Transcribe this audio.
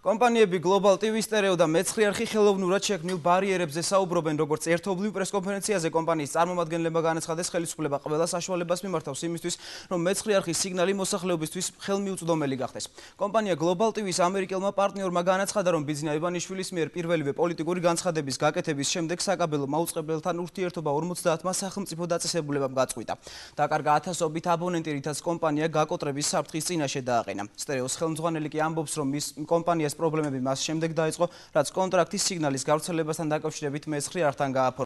კომპანიები Global TV Stereo და მეცხრე არხი ხელოვნურად შექმნილ ბარიერებზე საუბრობენ, როგორც ერთობლივ პრესკონფერენციაზე კომპანიის წარმომადგენლებმა განაცხადეს ხელისუფლება ყველა საშუალებას მიმართავს იმისთვის, რომ მეცხრე არხის სიგნალი მოსახლეობისთვის ხელმიუწვდომელი გახდეს. კომპანია Global TV-ს ამერიკელმა პარტნიორმა განაცხადა, რომ ბიზნე აივანიშვილის მიერ პირველივე პოლიტიკური განცხადების გაკეთების შემდეგ საკაბელო მაუწყებელთან ურთიერთობა 50-მა სახელმწიფო დაწესებულებამ გაწყვიტა. დაკარგა ათასობით აბონენტი, რითაც კომპანია გაკოტრების საფრთხის წინაშე დააყენა. Stereos ხელმძღვანელი კი ამბობს, რომ მის კომპანიას პრობლემები მას შემდეგ დაიწყო, რაც კონტრაქტის სიგნალის გავრცელებასთან დაკავშირებით მეცხრე არხთან გააფორმა.